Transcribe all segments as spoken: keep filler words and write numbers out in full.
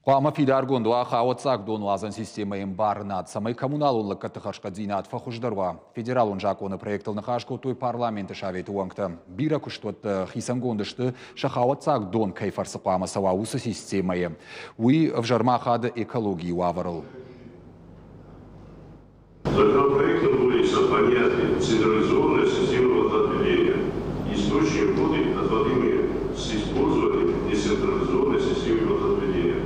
Хъуамӕ фидаргонд уа хауӕццаг донуадзӕн системӕйы ӕмбарынад, цӕмӕй коммуналон лӕггӕдты хӕрзхъӕддзинад фӕхуыздӕр уа. Федералон закъоны проектыл ныхас кодтой парламенты советы уӕнгтӕ. Бирӕ куыстуӕттӕ хицӕнгонд сты, сӕ хауӕццаг дон кӕй фӕрцы хъуамӕ цӕуа, уыцы системӕйы. Уый ӕвзӕрмӕ ахады экологийы уавӕрыл. Законопроектом вводится понятие «централизованная система водоотведения». Источник воды, отводимые с использованием децентрализованной системы водоотведения.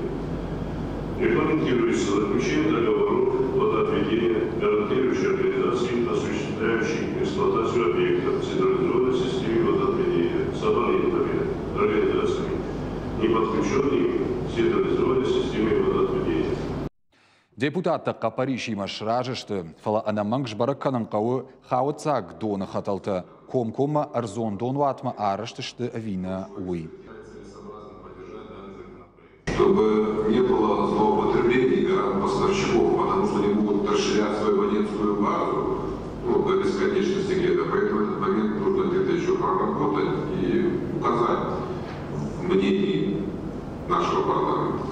Регламентируется заключение договоров водоотведения, гарантирующей организации, осуществляющей эксплуатацию объектов централизованной системы водоотведения с абонентами, организациями, не подключенными к централизованной системе водоотведения. Депутаттӕ хъӕппӕрисимӕ сразы сты, фӕлӕ ӕнӕмӕнг сбӕрӕг кӕнын хъӕуы, хауӕццаг доны хӕтӕлтӕ комкоммӕ ӕрдзон донуатмӕ арӕзт сты ӕви нӕ, уый. Чтобы не было злоупотреблений гарант-поставщиков, потому что они могут расширять свою абонентскую базу, ну, до бесконечности где-то. Поэтому этот момент нужно где-то еще проработать и указать в мнении нашего парламента.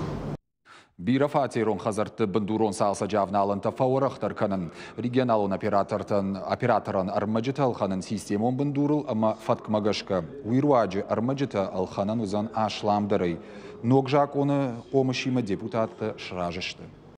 Бирӕфатерон хӕдзӕртты бындурон цалцӕджы авналӕнтӕ фӕуӕрӕхдӕр кӕнын, регионалон оператортӕн операторӕн ӕрмӕджытӕ ӕлхӕнын системон бындурыл ӕмӕ фӕткмӕ гӕсгӕ. Уый руаджы ӕрмӕджытӕ ӕлхӕнӕн уыдзӕн асламдӕрӕй. Ног закъоны хъомысимӕ депутаттӕ сразы сты.